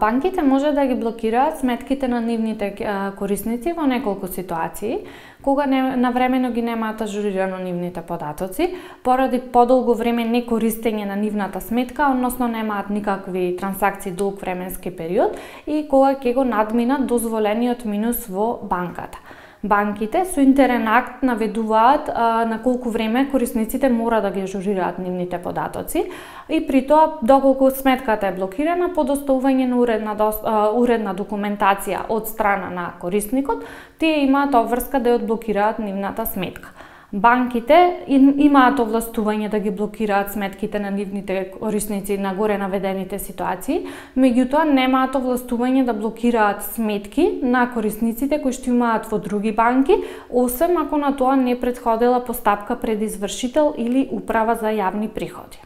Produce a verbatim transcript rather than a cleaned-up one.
Банките може да ги блокираат сметките на нивните корисници во неколку ситуации, кога не, навремено ги немаат ажурирано нивните податоци, поради подолго време не користење на нивната сметка, односно немаат никакви трансакции долг временски период и кога ќе го надминат дозволениот минус во банката. Банките со интерен акт наведуваат а, на колку време корисниците мора да ги ажурираат нивните податоци и при тоа, доколку сметката е блокирана, по доставување на уредна, а, уредна документација од страна на корисникот, тие имаат обврска да ја одблокираат нивната сметка. Банките имаат овластување да ги блокираат сметките на нивните корисници на горе наведените ситуации, меѓутоа немаат овластување да блокираат сметки на корисниците кои што имаат во други банки, освен ако на тоа не претходела постапка пред извршител или управа за јавни приходи.